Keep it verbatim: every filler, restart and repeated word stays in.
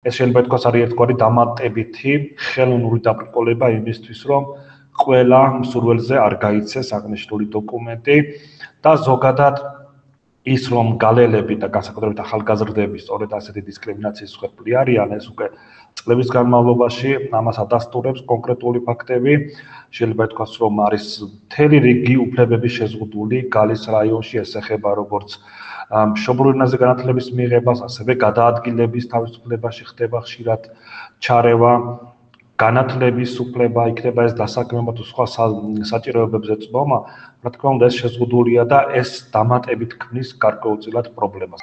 ეს შეიძლება ითქვას არის ერთგვარი დამატებითი ხელოვნური დაბრკოლება იმისთვის, რომ ყველა მსურველზე არ გაიცეს აღნიშნული დოკუმენტი და ზოგადად ის რომ გალელები და განსაკუთრებით ახალგაზრდები სწორედ ასეთი დისკრიმინაციის მსხვერპლი არიან, ეს უკვე წლების განმავლობაში ამას ადასტურებს კონკრეტული ფაქტები. შეიძლება ითქვას, რომ არის მთელი რიგი უფლებების შეზღუდული გალის რაიონში, ეს ეხება როგორც მშობლიურ ენაზე განათლების მიღებას, ასევე გადაადგილების თავისუფლებაში ხდება ხშირად ჩარევა, განათლების უფლება, იქნება ეს დასაქმება თუ სხვა საჭიროებებზე წმობა, რა თქმა უნდა, ეს შეზღუდულია და ეს დამატებით ქმნის გარკვეულწილად პრობლემას.